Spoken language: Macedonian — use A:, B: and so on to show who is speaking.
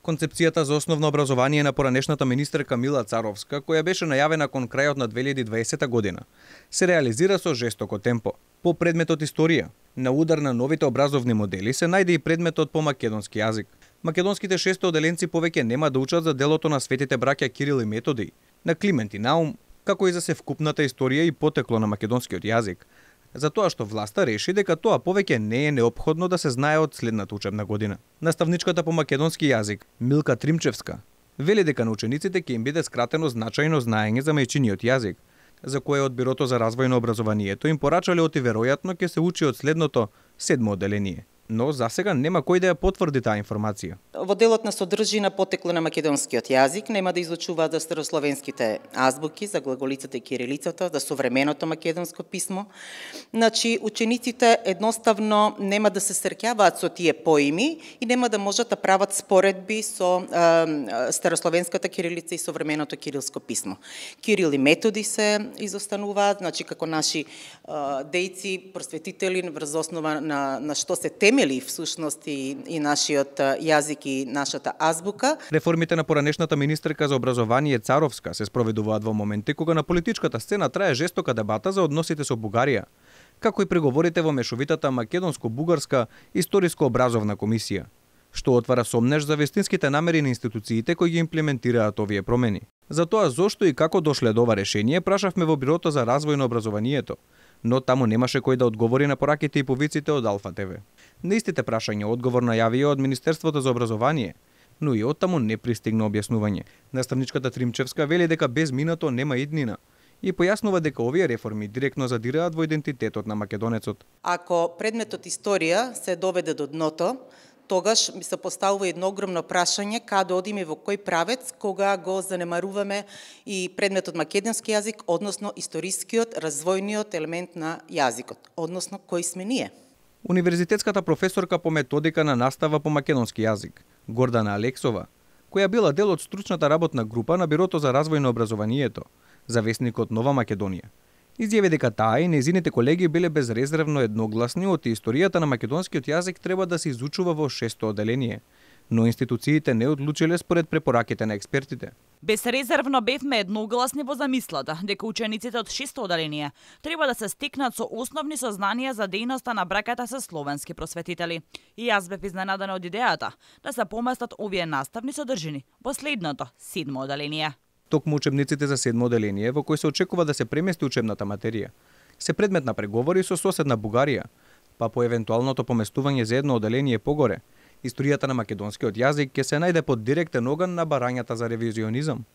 A: Концепцијата за основно образование на поранешната министерка Мила Царовска, која беше најавена кон крајот на 2020 година, се реализира со жестоко темпо. По предметот историја, на удар на новите образовни модели се најде и предметот по македонски јазик. Македонските 600 оделенци повеќе нема да учат за делото на светите браќа Кирил и Методий, на Климент и Наум, како и за севкупната историја и потекло на македонскиот јазик, затоа што власта реши дека тоа повеќе не е неопходно да се знае од следната учебна година. Наставничката по македонски јазик, Милка Тримчевска, вели дека на учениците ќе им биде скратено значајно знаење за мајчиниот јазик, за кое од Бирото за развој на образованието им порачале оти веројатно ќе се учи од следното 7 оделение. Но засега нема кој да ја потврди таа информација.
B: Во делот на содржина потекло на македонскиот јазик нема да изучуваат за старословенските азбуки, за глаголицата и кирилицата, за современото македонско писмо. Значи, учениците едноставно нема да се среќаваат со тие поими и нема да можат да прават споредби со старословенската кирилица и современото кирилско писмо. Кирил и Методи се изостануваат, значи како наши дејци, просветители врз основа на што се темели всушност и нашиот јазик и нашата азбука.
A: Реформите на поранешната министерка за образование Царовска се спроведуваат во моменти кога на политичката сцена трае жестока дебата за односите со Бугарија, како и преговорите во мешовитата македонско-бугарска историско-образовна комисија, што отвара сомнеж за вистинските намери на институциите кои ги имплементираат овие промени. За тоа зошто и како дошле до ова решение прашавме во Бирото за развој на образованието, но таму немаше кој да одговори на пораките и повиците од Алфа ТВ. На истите прашања одговор најавија од Министерството за образование, но и оттаму не пристигна објаснување. Наставничката Тримчевска вели дека без минато нема иднина и појаснува дека овие реформи директно задираат во идентитетот на македонецот.
B: Ако предметот историја се доведе до дното, тогаш ми се поставува едно огромно прашање каде одиме, во кој правец, кога го занемаруваме и предметот македонски јазик, односно историскиот, развојниот елемент на јазикот, односно кој сме ние.
A: Универзитетската професорка по методика на настава по македонски јазик, Гордана Алексова, која била дел од стручната работна група на Бирото за развој на образованието, за весникот Нова Македонија, изјави дека таа и нејзините колеги биле безрезервно едногласни од историјата на македонскиот јазик треба да се изучува во 600 оделение, но институциите не одлучиле според препораките на експертите.
C: Безрезервно бевме едногласни во замислата дека учениците од 600 оделение треба да се стекнат со основни сознанија за дејноста на браката со словенски просветители. И јас бев изненадана од идејата да се поместат овие наставни содржини во следното 7 оделение.
A: Токму учебниците за 7 оделение, во кој се очекува да се премести учебната материја, се предмет на преговори со соседна Бугарија, па по евентуалното поместување за едно оделение погоре, историјата на македонскиот јазик ќе се најде под директен оган на барањата за ревизионизам.